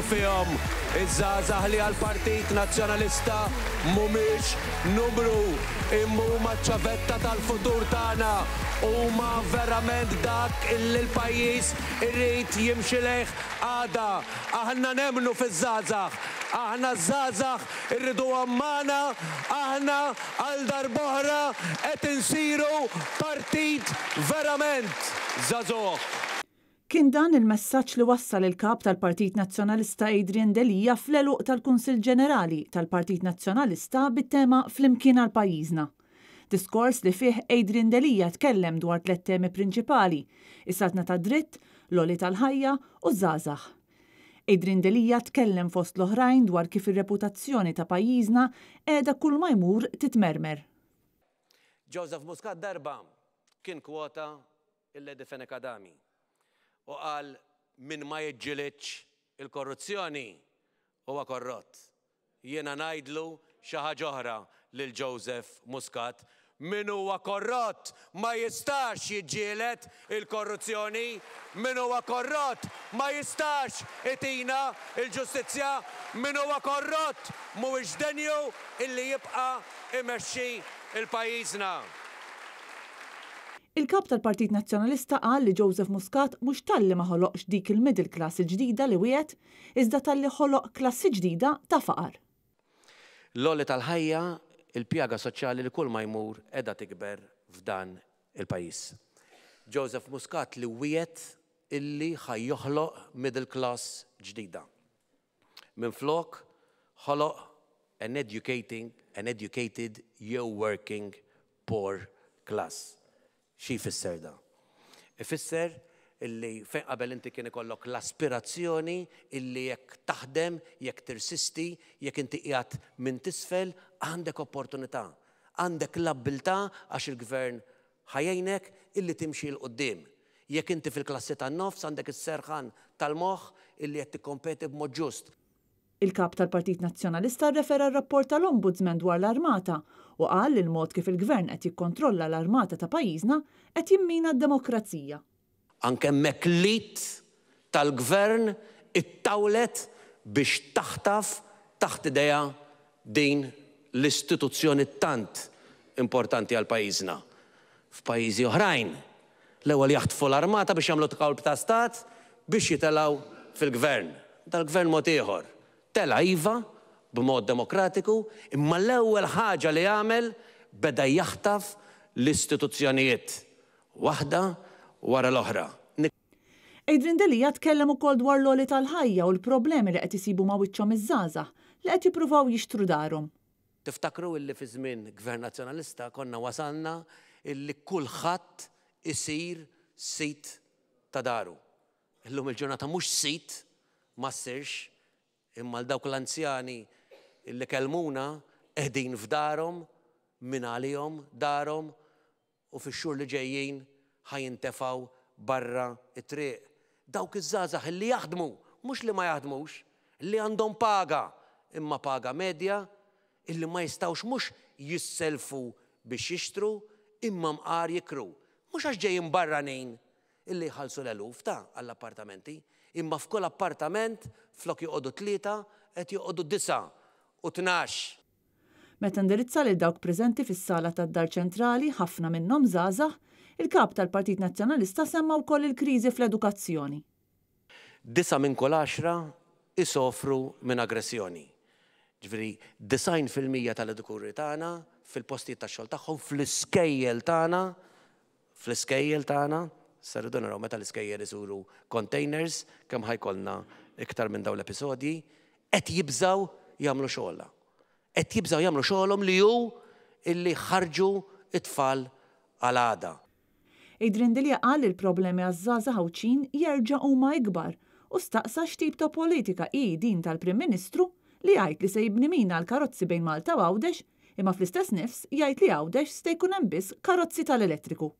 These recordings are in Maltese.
fihom. Iż-żgħażagħ li għall-Partit Nazzjonalista mhumiex numru, imma huma ċ-ċavetta tal-futur tagħna. Huma verament dak illi l-pajjiż irid jimxi lejh għada. Aħna nemmnu fiż-żgħażagħ. Aħna ż-żgħażagħ irriduhom magħna. Aħna għal darb'oħra qed insiru partit verament żagħżugħ. Kien dan il-messaġġ li wassal il-Kap tal-Partit Nazzjonalista Adrian Delia fl-għeluq tal-Kunsill Ġenerali tal-Partit Nazzjonalista bit-tema Flimkien għal Pajjiżna. Diskors li fih Adrian Delia tkellem dwar tlett temi prinċipali, is-saltna tad-dritt, l-għoli tal-ħajja u ż-żgħażagħ. Adrian Delia tkellem fost l-oħrajn dwar kif ir-reputazzjoni ta' pajjiżna qiegħda kulma jmur titmermer. Joseph Muscat darba kien kwota il-Lady Fenech Adami u qal min ma jiġġilidx il-korruzzjoni huwa korrott. Jiena ngħidlu xi ħaġa oħra lil Joseph Muscat, min huwa korrott ma jistax jiġġieled il-korruzzjoni, min huwa korrott ma jistax itina l-ġustizzja, min huwa korrott mhuwiex denju illi jibqa' imexxi l-pajjiżna. Il-Kap tal-Partit Nazzjonalista qal li Joseph Muscat mhux talli ma ħoloqx dik il-middle class il-ġdida li wiegħed, iżda talli ħoloq klassi ġdida ta' faqar. L-għoli tal-ħajja, il-pjaga soċjali li kull ma jmur qiegħda tikber f'dan il-pajjiż. Joseph Muscat li wiegħed illi ħa joħloq middle class ġdida. Minflok ħoloq an educating, an educated jew working poor class. Xi jfisser dan? Ifisser illi fejn qabel inti kien ikollok l-aspirazzjoni illi jekk taħdem, jekk tirsisti, jekk inti qiegħed minn t'isfel, għandek opportunità. Għandek l-abbiltà għax il-gvern ħa jgħinek illi timxi 'l quddiem. Jekk inti fil-klassi tan-nofs għandek is-serħan tal-moħħ illi qed tikkompeti b'mod ġust. Il-Kap tal-Partit Nazzjonalista rrefera r-rapport tal-Ombudsman dwar l-Armata u qal li l-mod kif il-Gvern qed jikkontrolla l-armata ta' pajjiżna qed jimmina d-demokrazija. Anke hemmhekk l-id tal-Gvern ittawlet biex taħtaf taħt idejha din l-istituzzjoni tant importanti għal pajjiżna. F'pajjiżi oħrajn, l-ewwel jaħtfu l-armata biex jagħmlu kolp ta' stat biex jitelgħu fil-Gvern. Dal-Gvern mod ieħor. Tela' iva, b'mod demokratiku, imma l-ewwel ħaġa li għamel beda jaħtaf l-istituzzjonijiet, waħda wara l-oħra. Adrian Delia tkellem ukoll dwar l-għoli tal-ħajja u l-problemi li qed isibu ma' wiċċhom iż-żgħażagħ li qed jippruvaw jixtru darhom. Tiftakru illi fi żmien Gvern Nazzjonalista konna wasalna illi kulħadd isir sid ta' daru. Illum il-ġurnata mhux sid ma ssirx imma għal dawk l-anzjani illi kellmuna qegħdin f'darhom mingħalihom darhom u fix-xhur li ġejjin ħa jintefgħu barra t-triq. Dawk iż-żgħażagħ li jaħdmu, mhux li ma jaħdmux, li għandhom paga, imma paga medja, illi ma jistgħux mhux jissellfu biex jixtru, imma mqar jikru. Mhux għax ġejjin barranin illi jħallsu l-eluf ta' għall-appartamenti, imma f'kull appartament flok joqogħdu tlieta qed joqogħdu disgħa u 12. Meta indirizza lil dawk preżenti fis-sala tad-Dar Ċentrali, ħafna minnhom żgħażagħ, il-Kap tal-Partit Nazzjonalista semma wkoll il-kriżi fl-edukazzjoni. Disgħa minn kull għaxra jsofru minn aggressjoni. Ġifieri 90% tal-edukuri tagħna fil-postijiet tax-xogħol tagħhom, fl-iskejjel tagħna, fl-iskejjel tagħna, issa rridu naraw meta l-iskejjel isuru containers kemm ħa jkollna iktar minn dawn l-episodji, qed jibżgħu jagħmlu xogħolha. Qed jibżgħu jagħmlu xogħolhom li hu illi jħarrġu t-tfal għal għada. Adrian Delia qal li l-problemi għaż-żgħażagħ Għawdxin jerġa' huma ikbar u staqsa x'tip ta' politika hi din tal-Prim Ministru li jgħid li se jibni mina għall-karozzi bejn Malta u Għawdex imma fl-istess nifs jgħid li Għawdex ste jkun hemm biss karozzi tal-elettriku.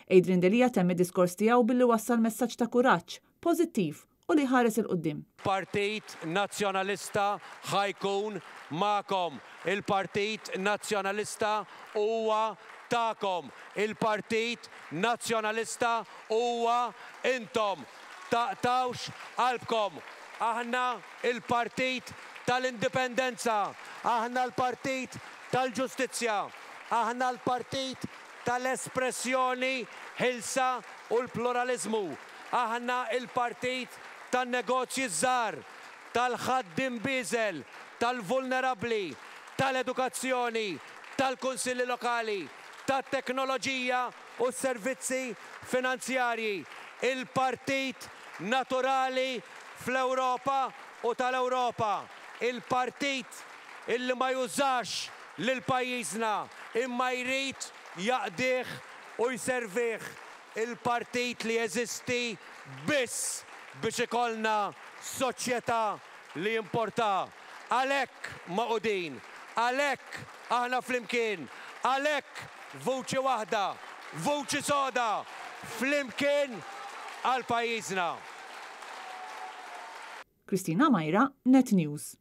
Adrian Delia temm id-diskors tiegħu billi wassal messaġġ ta' kuraġġ, pożittiv u li jħares 'il quddiem. Partit Nazzjonalista ħa jkun magħkom. Il-Partit Nazzjonalista huwa tagħkom. Il-Partit Nazzjonalista huwa intom. Taqtgħux qalbkom. Aħna l-partit tal-indipendenza. Aħna l-partit tal-ġustizzja. Aħna l-partit tal-espressjoni ħielsa u l-pluraliżmu. Aħna l-partit tan-negozji ż-żgħar, tal-ħaddiem bieżel, tal-vulnerabbli, tal-edukazzjoni, tal-kunsilli lokali, tat-teknoloġija u s-servizzi finanzjarji, il-partit naturali fl-Ewropa u tal-Ewropa, il-partit illi ma jużax lil pajjiżna imma jrid jaqdih u jservih, il-partit li jeżisti biss biex ikollna soċjetà li jimportha. Għalhekk magħqudin, għalhekk aħna flimkien, għalhekk vuċi waħda, vuċi soda, flimkien għal pajjiżna. Christina Majra, Net News.